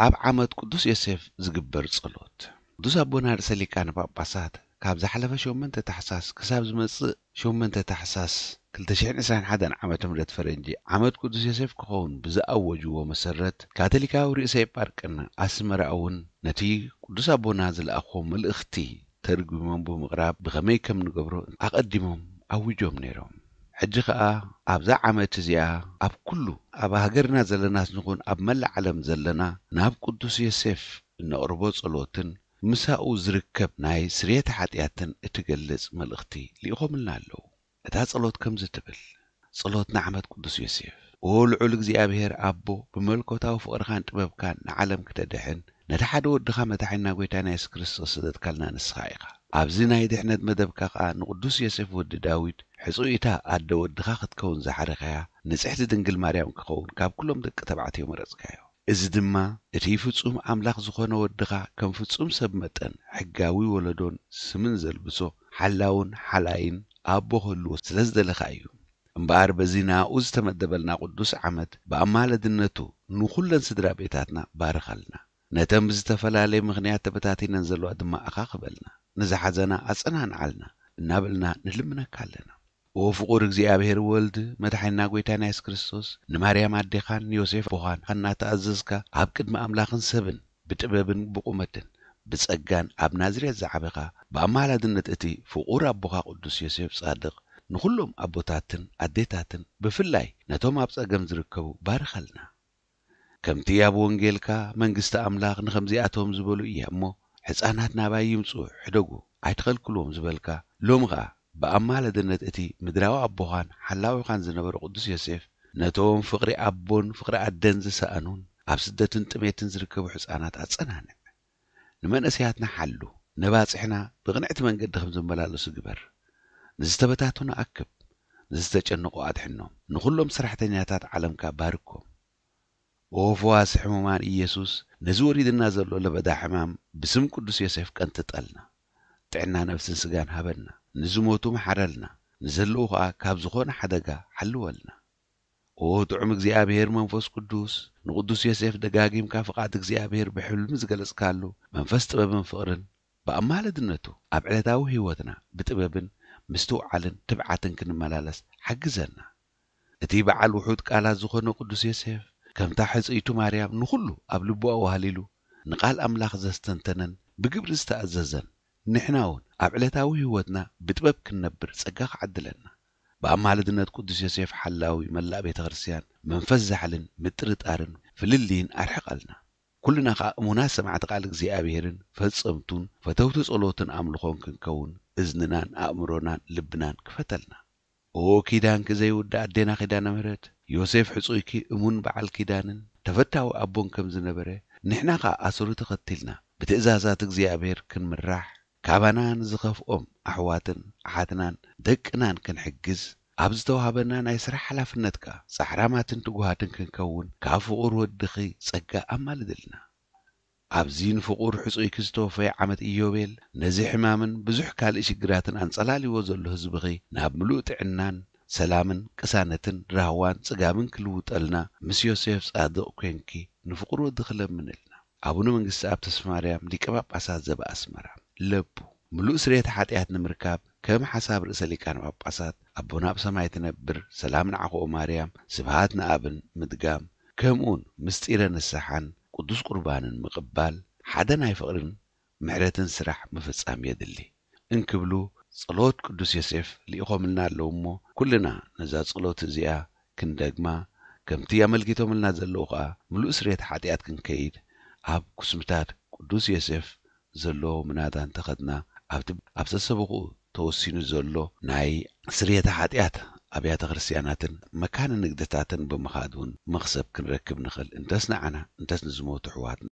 ኣብ ዓመት ቅዱስ ዮሴፍ ዝግበር ጸሎት። ቅዱስ ኣቦና ርእሰ ሊቃነ ጳጳሳት ካብ ዝሓለፈ ሸሞንተ ታሕሳስ ክሳብ ዝመጽእ ሸሞንተ ታሕሳስ ክልተ ሽሕን ዕስራን ሓደን ዓመተ ምህረት ፈረንጂ ዓመት ቅዱስ ዮሴፍ ክኸውን ብዝኣወጅዎ መሰረት፣ ካቶሊካዊ ርእሰ ኤጳርቅና ኣስመራ እውን ነቲ ቅዱስ ኣቦና ዝለኣኽዎ መልእኽቲ ተርጒሞም ብምቕራብ ብኸመይ ከም ንገብሮ ኣቐዲሞም ኣዊጆም ነይሮም። ሕጂ ኸኣ ኣብዛ ዓመት እዚኣ ኣብ ኩሉ ኣብ ሃገርና ዘለናስ ንኹን ኣብ መላእ ዓለም ዘለና ናብ ቅዱስ ዮሴፍ እነቕርቦ ጸሎትን ምሳኡ ዝርከብ ናይ ስርየተ ሓጢኣትን እትገልጽ መልእኽቲ ልኢኾምልና ኣለዉ። እታ ጸሎት ከምዚ ትብል፣ ጸሎት ንዓመት ቅዱስ ዮሴፍ። ኦ ልዑል እግዚኣብሔር ኣቦ፣ ብመለኮታዊ ፍቕርኻን ጥበብካን ንዓለም ክተድሕን፣ ነቲ ሓደ ወድኻ መድሓኒና ጐይታና የሱስ ክርስቶስ ዝሰደድካልና ንስኻ ኢኻ። ኣብዚ ናይ ድሕነት መደብካ ኸኣ ንቅዱስ ዮሴፍ ወዲ ዳዊት ሕጹይታ ኣደ ወድኻ ክትከውን ዝሓረኻያ ንጽሕቲ ድንግል ማርያም ክኸውን ካብ ኩሎም ደቂ ተባዕትዮ መረጽካዮ። እዚ ድማ እቲ ፍጹም ኣምላኽ ዝኾነ ወድኻ ከም ፍጹም ሰብ መጠን ሕጋዊ ወለዶን ስምን ዘልብሶ ሓላውን ሓላይን ኣቦ ክህልዎ ስለ ዝደለኻ እዩ። እምበኣር በዚ ንኣኡ ዝተመደበልና ቅዱስ ዓመት ብኣማለድነቱ ንኹለን ስድራ ቤታትና ባርኸልና። ነተን ብዝተፈላለየ ምኽንያት ተበታቲነን ዘለዋ ድማ ኣኻኽበልና። ንዝሓዘና ኣጸናንዓልና እናበልና ንልምነካ ኣለና። ኦ ፍቑር እግዚኣብሔር ወልድ፣ መድሓኒና ጐይታና የሱስ ክርስቶስ፣ ንማርያም ኣዴኻን ንዮሴፍ ኣቦኻን እናተኣዘዝካ ኣብ ቅድሚ ኣምላኽን ሰብን ብጥበብን ብቑመትን ብጸጋን ኣብ ናዝሬት ዝዓበኻ፣ ብኣማላድነት እቲ ፍቑር ኣቦኻ ቅዱስ ዮሴፍ ጻድቕ፣ ንኹሎም ኣቦታትን ኣዴታትን ብፍላይ ነቶም ኣብ ጸገም ዝርከቡ ባርኸልና። ከምቲ ኣብ ወንጌልካ፣ መንግስቲ ኣምላኽ ንኸምዚኣቶም ዝበሉ እያ እሞ፣ ሕፃናት ናባይ ይምጹ፣ ሕደጉ፣ ኣይትኸልክልዎም ዝበልካ፣ ሎሚ ኸኣ ብኣማላድነት እቲ ምድራዊ ኣቦኻን ሓላዊኻን ዝነበረ ቅዱስ ዮሴፍ፣ ነቶም ፍቕሪ ኣቦን ፍቕሪ ኣደን ዝሰኣኑን ኣብ ስደትን ጥሜትን ዝርከቡ ሕፃናት ኣጸናንዕ። ንመንእሰያትና ሓሉ፣ ነባጽሕና ብቕንዕቲ መንገዲ ከም ዝመላለሱ ግበር። ንዝተበታተኑ ኣክብ፣ ንዝተጨነቑ ኣድሕኖም፣ ንኹሎም ሰራሕተኛታት ዓለምካ ባርኮም። ኦ ፈዋሲ ሕሙማን ኢየሱስ፣ ነዚ ወሪድና ዘሎ ለበዳ ሕማም ብስም ቅዱስ ዮሴፍ ቀንጥጠልና። ጥዕና ነፍስን ስጋን ሃበና። ንዝሞቱ መሓረልና፣ ንዘለዉ ኸኣ ካብ ዝኾነ ሓደጋ ሓልወልና። ኦ ጥዑም እግዚኣብሔር መንፈስ ቅዱስ፣ ንቅዱስ ዮሴፍ ደጋጊምካ ፍቓድ እግዚኣብሔር ብሕልሚ ዝገለጽካሉ መንፈስ ጥበብን ፍቕርን ብኣማላድነቱ ኣብ ዕለታዊ ህይወትና ብጥበብን ምስትውዓልን ትብዓትን ክንመላለስ ሓግዘና። እቲ በዓል ውሑድ ቃላት ዝኾነ ቅዱስ ዮሴፍ፣ ከምታ ሕጽይቱ ማርያም ንኹሉ ኣብ ልቡ ኣዋህሊሉ ንቓል ኣምላኽ ዘስተንተነን ብግብሪ ዝተኣዘዘን፣ ንሕና እውን ኣብ ዕለታዊ ህይወትና ብጥበብ ክንነብር ጸጋ ክዓድለና። ብኣማልድነት ቅዱስ ዮሴፍ ሓላዊ መላእ ቤተ ክርስቲያን መንፈስ ዛሕልን ምጥርጣርን ፍልልይን ኣርሕቐልና። ኩልና ኸኣ እሙናት ሰማዕቲ ቃል እግዚኣብሔርን ፈጸምቱን ፈተውቲ ጸሎትን ኣምልኾን ክንከውን እዝንናን ኣእምሮናን ልብናን ክፈተልና። ኦ ኪዳንኪ ዘይውዳእ ኣዴና ኪዳነ ምሕረት፣ ዮሴፍ ሕጹይኪ እሙን በዓል ኪዳንን ተፈታዊ ኣቦን ከም ዝነበረ፣ ንሕና ኸኣ ኣሰሩ ተኸቲልና ብትእዛዛት እግዚኣብሔር ክንምራሕ፣ ካባና ንዝኸፍኦም ኣሕዋትን ኣሓትናን ደቅናን ክንሕግዝ ኣብ ዝተዋህበና ናይ ስራሕ ሓላፍነት ከኣ ጻዕራማትን ትጉሃትን ክንከውን ካብ ፍቑር ወድኺ ጸጋ ኣማልድልና። ኣብዚ ንፍቑር ሕጹይኪ ዝተወፈየ ዓመት ኢዮቤል፣ ነዚ ሕማምን ብዙሕ ካልእ ሽግራትን ኣንጸላልይዎ ዘሎ ህዝብኺ ናብ ምሉእ ጥዕናን ሰላምን ቅሳነትን ራህዋን ጽጋብን ክልውጠልና ምስ ዮሴፍ ጻድቕ ኮንኪ ንፍቑር ወድኺ ለምንልና። ኣቡነ መንግስቲ ኣብ ተስፋ ማርያም ሊቀ ጳጳሳት ዘበኣስመራ። ለቡ ምሉእ ስርየተ ሓጢኣት ንምርካብ ከም ሓሳብ ርእሰ ሊቃነ ጳጳሳት ኣቦና ኣብ ሰማይ ትነብር፣ ሰላም ንዓኹ ኦ ማርያም፣ ስብሃት ንኣብን ምድጋም፣ ከምኡውን ምስጢረ ንስሓን ቅዱስ ቁርባንን ምቕባል፣ ሓደ ናይ ፍቕርን ምሕረትን ስራሕ ምፍጻም የድሊ እንክብሉ ጸሎት ቅዱስ ዮሴፍ ልኢኾምልና ኣለዉ እሞ፣ ኩልና ነዛ ጸሎት እዚኣ ክንደግማ፣ ከምቲ ኣመልኪቶምልና ዘለዉ ኸኣ ምሉእ ስርየት ሓጢኣት ክንከይድ፣ ኣብ ኩስምታት ቅዱስ ዮሴፍ ዘሎ ምናዳ እንተኸድና፣ ኣብቲ ኣብ ሰሰበኹኡ ተወሲኑ ዘሎ ናይ ስርየተ ሓጢኣት ኣብያተ ክርስቲያናትን መካነ ንግድታትን ብምኻድ እውን መኽሰብ ክንረክብ ንኽእል፣ እንተስ ንዓና፣ እንተስ ንዝሞቱ ኣሕዋትና።